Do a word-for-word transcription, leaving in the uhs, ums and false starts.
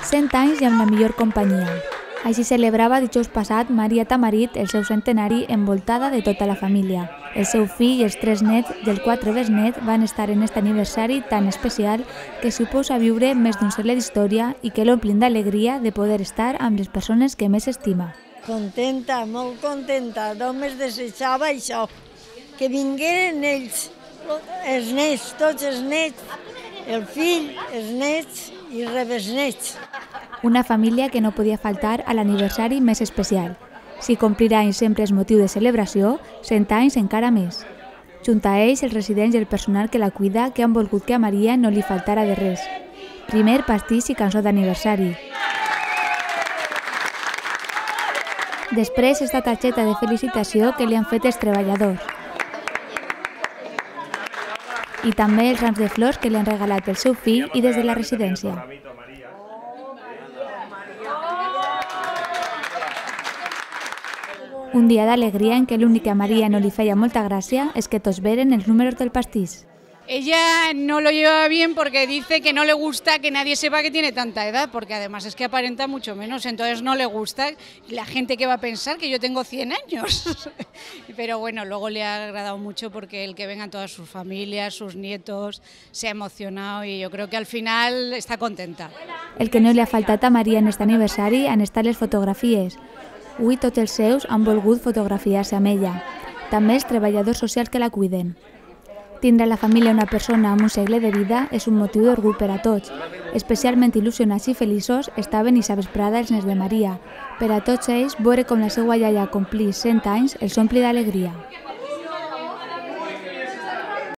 cent anys i amb la millor companyia. Així celebrava dijous passat Maria Tamarit el seu centenari envoltada de tota la família. El seu fill i els tres nets i els quatre besnets van estar en aquest aniversari tan especial que suposa viure més d'un segle d'història i que l'omplin d'alegria de poder estar amb les persones que més estima. Contenta, molt contenta. Només desitjava això, que vingueren ells, els nets, tots els nets, el fill, els nets i rebesnets. Una família que no podia faltar a l'aniversari més especial. Si complir anys sempre és motiu de celebració, cent anys encara més. Junt a ells, els residents i el personal que la cuida que han volgut que a Maria no li faltara de res. Primer pastís i cançó d'aniversari. Després, esta targeta de felicitació que li han fet els treballadors. I també els rams de flors que li han regalat el seu fill i des de la residència. Un dia d'alegria en què l'únic que a Maria no li feia molta gràcia és que tots veren els números del pastís. Ella no lo lleva bien porque dice que no le gusta que nadie sepa que tiene tanta edad, porque además es que aparenta mucho menos, entonces no le gusta la gente que va a pensar que yo tengo cien años. Pero bueno, luego le ha agradado mucho porque el que vengan todas sus familias, sus nietos, se ha emocionado y yo creo que al final está contenta. El que no li ha faltat a Maria en aquest aniversari han estat les fotografies. Avui tots els seus han volgut fotografiar-se amb ella, també els treballadors socials que la cuiden. Tindre a la família una persona amb un segle de vida és un motiu d'orgull per a tots. Especialment il·lusionats i feliços estaven i vesprada els nens de Maria. Per a tots ells, veure com la seva iaia complís cent anys els ompli d'alegria.